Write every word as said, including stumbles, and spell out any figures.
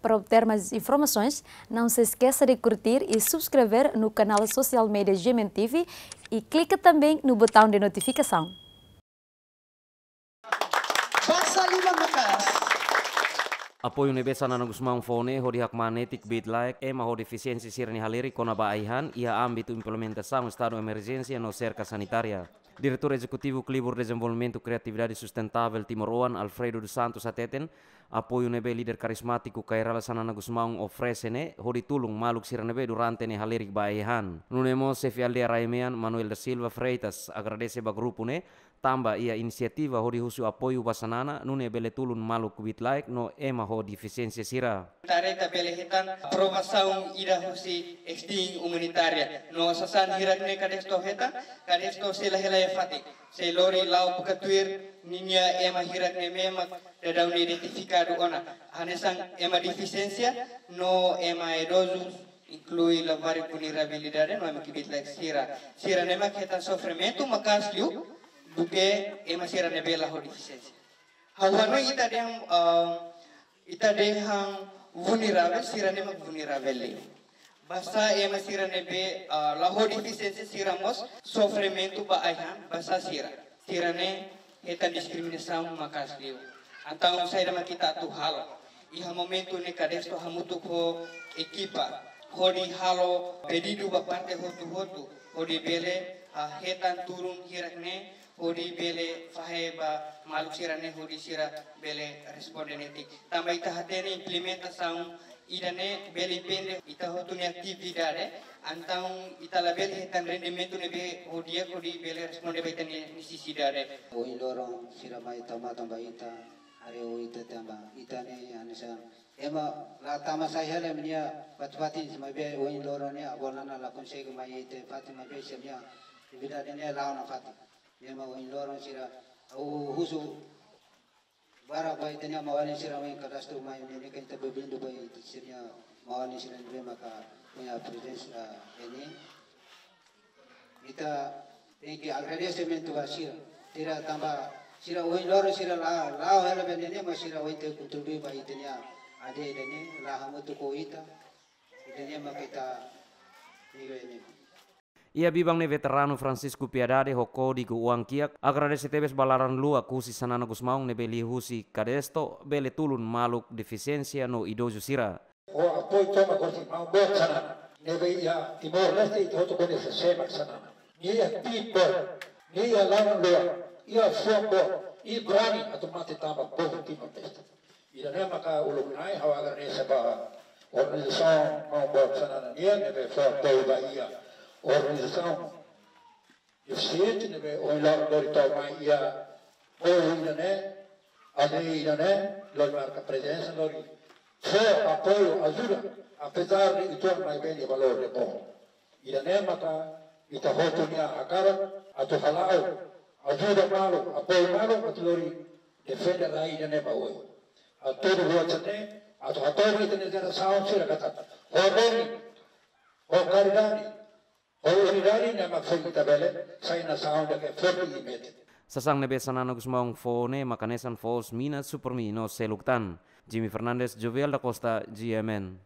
Para obter mais informações, não se esqueça de curtir e subscrever no canal social media G M N T V e clica também no botão de notificação. Basa liman maka'as. Apoiu ne'ebé Xanana Gusmão fó ne'e hodi hakmaan netik bit laek ema ho defisiénsia sira-nia halerik kona-ba ai-han iha ámbitu implementasaun estadu emerjénsia no serka sanitária. Diretór Ezekutivu Klibur Dezenvolvimentu Kriatividade Sustentável Timor-Oan, Alfredo dos Santos, hateten, apoiu ne'ebé líder karizmátiku Kay Rala Xanana Gusmão oferese ne'e hodi tulun maluk sira ne'ebé durante ne'e halerik ba ai-han. Nune'e mós xefe aldeia Raia Mean, Manuel da Silva Freitas, agradese ba grupu ne'e tanba iha inisiativa hodi husu apoiu ba Xanana, nune'e bele tulun maluk bit laek no ema ho defisiénsia sira. Tareta bele hetan aprovasaun ida husi Extin Umanitária. No sasán hirak ne'e KADESTO hetan, KADESTO sei la hela iha fatin. Sei lori la'o buka tuir ninia ema hirak ne'ebé mak daudaun ne'e identifikadu ona. Hanesan ema defisiénsia no ema idozus, inklui labarik vulnerabilidade no ema kbiit laek sira. Sira ne'e mak hetan sofrimentu maka'as liu duké ema sira ne'ebé la ho defisiénsia. Ha'u hanoin ita dehan, ah, ita dehan vulneravel, sira ne'e mak vulneravel liu. Basa ema sira ne'ebé, ah, la ho defisiénsia sira mós sofrimentu ba ai-han, basa sira. Sira ne'e hetan diskriminasaun maka'as liu. Entaun saida mak ita atu halo? Iha momentu ne'e KADESTO hamutuk ho ekipa hodi halo pedidu ba parte hotu-hotu hodi bele, ah, hetan turun hirak ne'e hodi bele fahe ba maluk sira ne'e hodi sira bele responde netik. Tanba ita hatene implementasaun ida-ne'e bele depende ita hotu nia atividade, entaun ita labele hetan rendimentu ne'ebé ho di'ak hodi bele responde ba ita-nia nesesidade. Ohin loron sira mai tau matan ba ita, haree ho ita tanba ita ne'e hanesan ema la tama sai hela ema nia fatin-fatin, maibé ohin loron ne'e avó Nana la konsege mai iha ita fatin, maibé sira-nia atividade ne'e la'o nafatin. Ne'e mak ohin loron sira ha'u husu barak ba ita-nia maun-alin sira mai KADESTO mai ne'e, ne'e kan ita bem-vindo ba ita sira-nia maun-alin sira ne'ebé maka iha prezensa iha ne'e. Ita tenke agradesimentu ba sira. Sira tanba sira ohin loron sira la, la'o hela ba ne'e, mas sira ohin tenke kontribui ba ita-nia aldeia ne'e, la hamutuk ho ita. Ita ne'e maka ita niga ne'e. Iha biban ne'e veteranu Francisco Piedade ho kódigu oan-kiak agradese tebes ba laran-luak husi Xanana Gusmão ne'ebé liuhusi KADESTO bele tulun maluk defisiénsia no idozu sira. Ho apoiu tomak husi maun boot Xanana ne'ebé iha Timor-Leste, ita hotu koñese sé mak Xanana. Nia iha tiim boot, nia iha laran-luak, iha fuan boot, i brani atu mate tanba povu Timor-Leste. Ida-ne'e maka uluk na'in ha'u agradese ba organizasaun maun boot Xanana nian ne'ebé fó apoiu ba iha organizasaun defisiente ne'ebé ohin loron lori tau mai iha povu ida-ne'e, aldeia ida-ne'e, lori marka prezensa, lori fó apoiu, ajuda, apezar de uitoan maibé nia valór ne'e boot. Ida-ne'e maka ita hotu nia hakarak atu hala'o, ajuda malu, apoiu malu, atu lori defende rai ida-ne'e ba oin. Hatudu buat sira-ne'e atu hatudu ita-nia jerasaun sira katak ho deni, ho karidade, ho unidade ne'e mak fó ita bele sai nasaun ida ke forte i metin. Sasán ne'ebé Xanana Gusmão fó ne'e maka hanesan foos mina, Supermi no seluk tan. Jimmy Fernandes, Jovial da Costa, G M N.